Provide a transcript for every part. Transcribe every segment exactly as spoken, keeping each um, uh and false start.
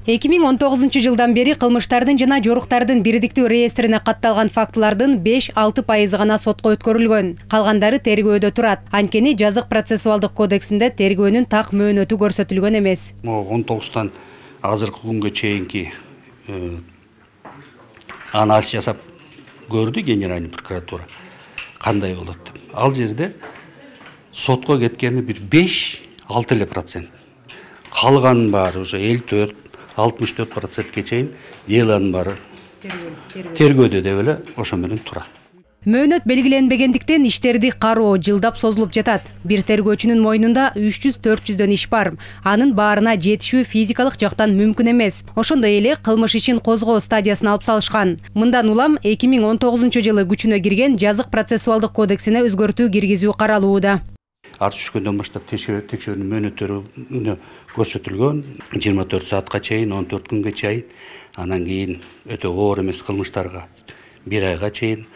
эки миң он тогузунчу жылдан бери кылмыштардын жана жоруктардын бирдиктүү реестрине катталган фактылардын беш алты пайызы гана сотко өткөрүлгөн. Калгандары тергөөдө турат. Анткени жазык процессуалдык кодексинде тергөөнүн так мөөнөтү көрсөтүлгөн эмес. он тогуздан азыркы күнгө чейинки анализ жасап көрдү генеральный прокуратура кандай болот деп. Ал жерде сотко кеткени бир беш алты эле процент. Калганын баары уже элүү төрт алтымыш төрт процентке чейин делонун баары тергөөдө деп эле ошо менен турат. Мөөнөт белгиленбегендиктен иштерди кароо жылдап созулуп жатат. Бир тергөөчүнүн мойнунда үч жүз төрт жүздөн иш бар. Анын баарына жетишүү физикалык жактан мүмкүн эмес. Ошондой эле кылмыш ишин козгоо стадиясына алып салышкан. Мындан улам эки миң он тогузунчу жылы күчүнө кирген жазык процессуалдык кодексине өзгөртүү киргизүү каралууда. Ар түшкөндөн баштап текшерүүнүн мөөнөттөрү көрсөтүлгөн. жыйырма төрт саатка чейин, он төрт күнгө чейин, анан кийин өтө оор эмес кылмыштарга бир айга чейин,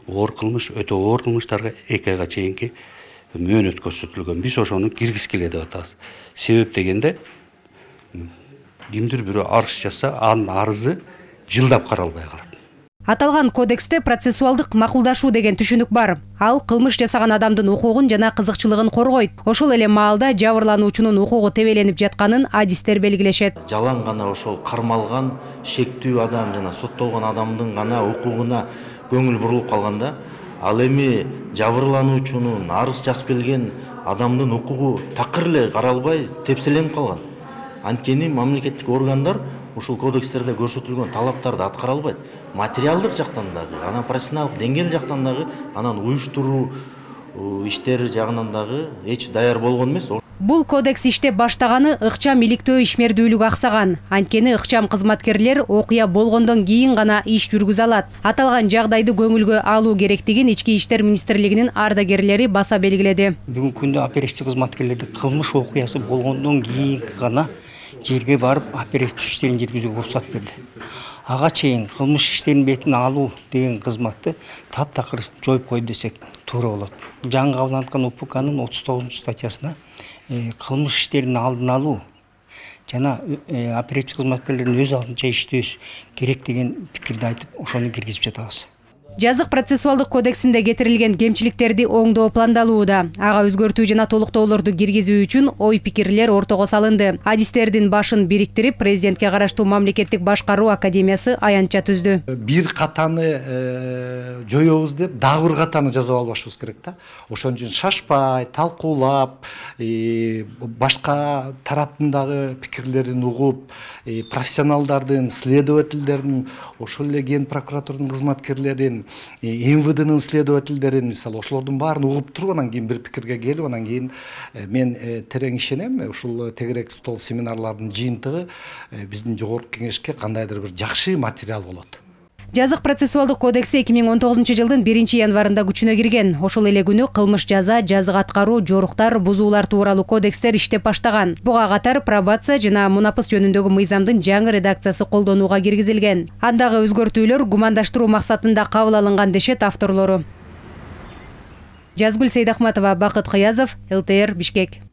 оор кылмыш, өтө оор кылмыштарга эки айга чейинки мөөнөт көрсөтүлгөн. Биз ошону киргизгиле деп атабыз. Себеп дегенде кимдир бирөө арыз жазса, анын арызы жылдап каралбай калат. Аталган кодексте процессуалдык макулдашуу деген түшүнүк бар. Ал кылмыш жасаган адамдын укугун жана кызыкчылыгын коргойт. Ошол эле маалда жабырлануучунун укугу тебеленип жатканын адистер белгилешет. Жалаң гана ошол кармалган шектүү адам жана соттолгон адамдын гана укугуна көңүл бурулуп калганда, ал эми жабырлануучунун арыз жазып келген адамдын укугу такыр эле каралбай тепселенип калган. Анткени мамлекеттик органдар ушул кодекстерде көрсөтүлгөн талаптарды аткара албайт. Материалдык жактан дагы, анан профессионалдык деңгээл жактан дагы, анан уюштуруу иштери жагынан дагы эч даяр болгон эмес. Бул кодекс иштеп баштаганы ыкчам иликтөө ишмердүүлүк аксаган. Анткени ыкчам кызматкерлер окуя болгондон кийин гана иш жүргүзө алат. Аталган жагдайды көңүлгө алуу керектигин Ички иштер министрлигинин ардагерлери баса белгиледи. Бүгүнкү күндө оперативдик кызматкерлерди кылмыш окуясы болгондон кийин гана жерге барып оперативдик иштерин жүргүзүүгө уруксат берди. Ага чейин кылмыш иштеринин бетин алуу деген кызматты таптакыр жоюп койду десек туура болот. Жаңы кабылган УПКнын отуз тогузунчу статьясына кылмыш иштеринин алдын алуу жана оперативдик кызматкерлердин өз алдынча иштөөсү керек деген пикирди айтып, ошону киргизип жатабыз. Жазык процессуалдык кодексинде кетирилген кемчиликтерди оңдоо пландалууда. Ага өзгөртүү жана толуктоолорду киргизүү үчүн ой пикирлер ортого салынды. Адистердин башын бириктирип, президентке караштуу мамлекеттик башкаруу академиясы аянтча түздү. Бир катаны жоёбуз деп, дагы бир катаны жазып албашыбыз керек да. Ошон үчүн шашпай, талкуулап, башка тараптын дагы пикирлерин угуп, профессионалдардын, следовательдердин, ошол эле ген прокуратурдун кызматкерлерин, МВДнын следовательдерин, мисалы, ошолордун баарын угуп туруп, анан кийин бир пикирге келип, анан кийин мен терең ишенем, ушул тегерек стол семинарлардын жыйынтыгы биздин жогорку кеңешке кандайдыр бир жакшы материал болот. Жазык процессуалдык кодекси эки миң он тогузунчу жылдын биринчи январында күчүнө кирген. Ошол эле күнү кылмыш жаза, жазык аткаруу, жоруктар, бузуулар тууралуу кодекстер иштеп баштаган. Буга катар пробация жана мунапыс жөнүндөгү мыйзамдын жаңы редакциясы колдонууга киргизилген. Андагы өзгөртүүлөр гумандаштыруу максатында кабыл алынган дешет авторлору. Жазгүл Сейдахматова, Бакыт Кыязов, эл тэ эр, Бишкек.